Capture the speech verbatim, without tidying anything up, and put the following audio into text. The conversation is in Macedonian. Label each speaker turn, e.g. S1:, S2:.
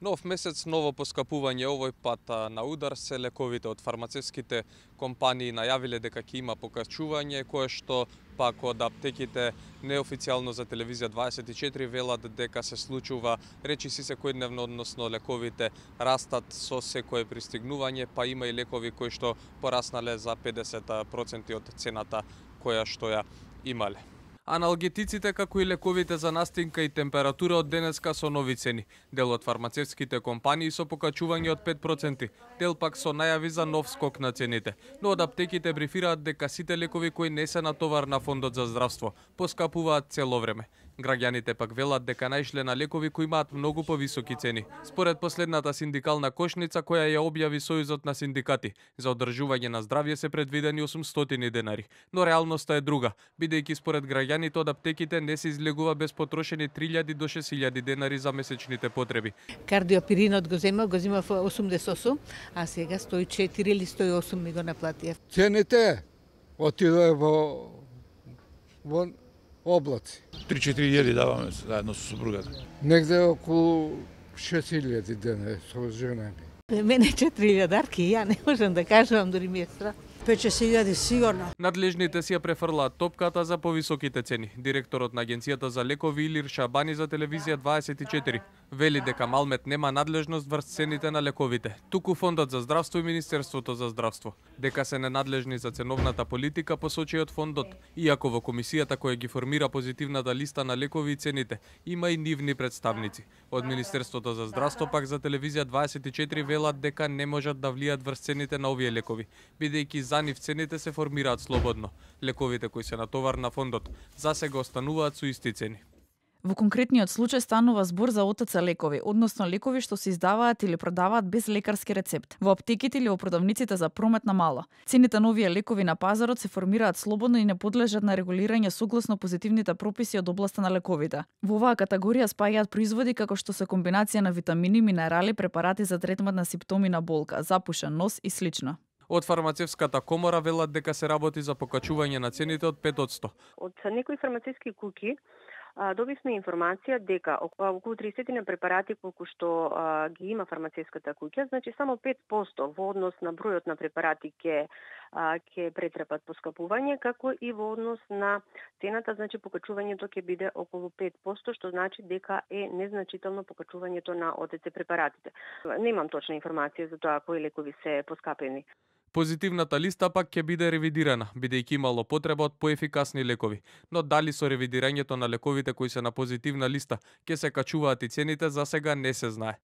S1: Нов месец, ново поскапување. Овој пат на удар се лековите. Од фармацевските компании најавиле дека ќе има покачување, кое што пак од аптеките неофицијално за телевизија дваесет и четири велат дека се случува речиси секојдневно, односно лековите растат со секое пристигнување, па има и лекови кои што пораснале за педесет проценти од цената која што ја имале. Аналгетиците, како и лековите за настинка и температура од денеска со нови цени. Дел од фармацевските компании со покачување од пет проценти, дел пак со најави за нов скок на цените. Но од аптеките брифираат дека сите лекови кои не се на товар на Фондот за здравство поскапуваат цело време. Граѓаните пак велат дека наишле на лекови кои имаат многу повисоки цени. Според последната синдикална кошница која ја објави Сојузот на синдикати, за одржување на здравје се предвидени осумстотини денари, но реалноста е друга, бидејќи според граѓаните од аптеките не се излегува без потрошени три илјади до шест илјади денари за месечните потреби.
S2: Кардиопиринот го земав, го земав осумдесет и осум, а сега сто и четири или сто и осум ми го наплатија.
S3: Цените отидоа во во облаци.
S4: три-четири илјади даваме заедно со супругата.
S3: Негде околу шест илјади денари со жена ми.
S2: Мене четири илјадарки, ја не можам да кажувам, дури ми е страх.
S5: пет-шест илјади сигурно.
S1: Надлежните си ја префрлаат топката за повисоките цени. Директорот на Агенцијата за лекови Илир Шабани за телевизија дваесет и четири вели дека Малмет нема надлежност врз цените на лековите, туку Фондот за здравство и Министерството за здравство. Дека се ненадлежни за ценовната политика посочи од фондот, иако во комисијата која ги формира позитивната листа на лекови и цените има и нивни представници. Од Министерството за здравство пак за телевизија дваесет и четири велат дека не можат да влијат врз цените на овие лекови, бидејќи за нив цените се формираат слободно. Лековите кои се на товар на фондот засега остануваат со исти цени.
S6: Во конкретниот случај станува збор за о те це лекови, односно лекови што се издаваат или продаваат без лекарски рецепт, во аптеките или во продавниците за промет на мало. Цените на овие лекови на пазарот се формираат слободно и не подлежат на регулирање согласно позитивните прописи од областа на лековите. Во оваа категорија спаѓаат производи како што се комбинација на витамини, минерали, препарати за третман на симптоми на болка, запушен нос и слично.
S1: Од фармацевската комора велат дека се работи за покачување на цените од пет одсто.
S7: Од некои фармацевски куќи добивме информација дека околу триесет на препарати колку што а, ги има фармацевската куќа, значи само пет одсто во однос на бројот на препарати ќе ќе претрпат поскапување, како и во однос на цената, значи покачувањето ќе биде околу пет одсто, што значи дека е незначително покачувањето на о те це препаратите. Немам точна информација за тоа кои лекови се поскапени.
S1: Позитивната листа пак ќе биде ревидирана, бидејќи имало потреба од поефикасни лекови, но дали со ревидирањето на лековите кои се на позитивна листа ќе се качуваат и цените, за сега не се знае.